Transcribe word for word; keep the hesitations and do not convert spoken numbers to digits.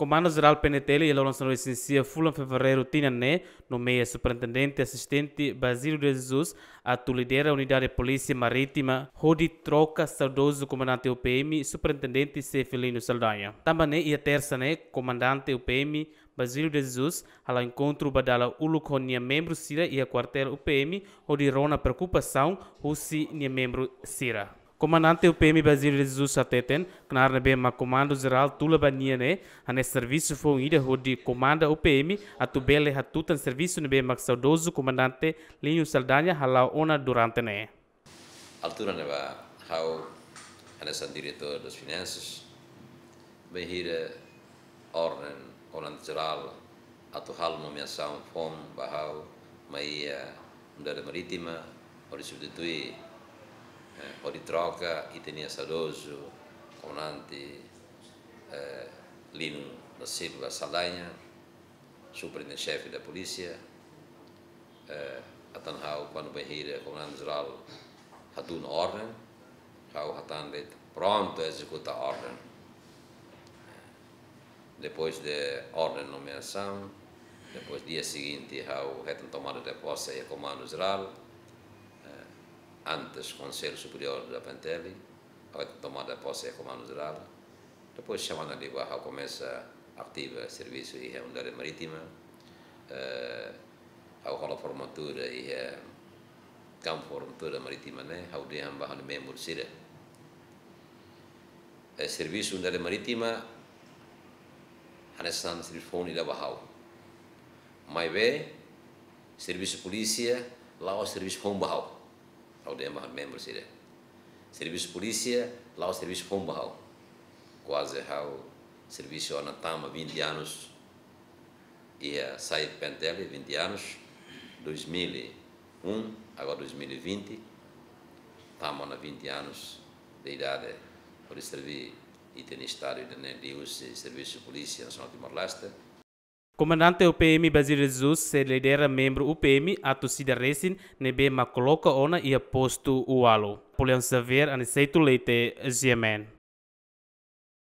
Komandu Jerál P N T L iha loron sanulu-resin-sia fulan Fevereiru tinan ne'e nomeia Superintendente Asistente Basílio de Jesus atu lidera Unidade Polísia Marítima hodi troka saudozu Komandante U P M, Superintendente Xefe Lino Saldanha. Tanba ne'e, iha Tersa ne'e, Komandante U P M Basílio de Jesus hala'o enkontru ba dala uluk ho nia membru sira iha kuartél U P M hodi rona preokupasaun husi nia membru sira. Komandante U P M Basílio de Jesus hateten, knaar ne'ebé mak Komandu Jerál tula ba nia ne'e hanesan servisu foun ida hodi komanda U P M atu bele hatutan servisu ne'ebé mak saudozu Komandante Lino Saldanha hala'o ona durante ne'e. Altura ne'ebá ha'u hanesan Diretór das Finansas, bainhira orden Komandante Jerál atu halo nomeasaun foun ba ha'u mai iha Unidade Marítima, hodi substitui, eh, hodi troka ita-nia saudozu Komandante, eh, Lino da Silva Saldanha, Superintendente Xefe da Polísia, eh, atan ha'u, kuandu bainhira Komandante Jerál hatún orden, ha'u hatán de'it prontu ezekuta orden. Depois de orden nomeasaun, depois dia seguinte ha'u hetan tomada de posse iha Komandu Jerál, eh, antes Konsellu Superiór da P N T L, ha'u hetan tomada de posse iha Komandu Jerál. Depois semana liubá ha'u komesa ativa servisu iha Unidade Marítima. Eh, ha'u hola formatura iha kampu formatura marítima ne'e, ha'u dehan ba ha'u-nia membru sira. Eh, servisu Unidade Marítima hanesan servisu foun ida ba ha'u. Maibé, servisu polísia la'ós servisu foun ba ha'u. Ha'u dehan ba membru sira. Servisu polísia la'ós servisu foun ba ha'u. Kuaze ha'u servisu ona tama vinte anos. Iha sai P N T L vinte anos, dois mil e um, agora dois mil e vinte, tama ona vinte anos de idade, hodi serví ita-nia Estadu ida-ne'e liuhusi servisu Polísia Nasionál Timor-Leste. Komandante U P M Basílio Jesus sei lidera membru U P M atus ida resin ne'ebé mak koloka ona iha postu ualu. Napoleão Xavier, Aniceto Leite, G M N.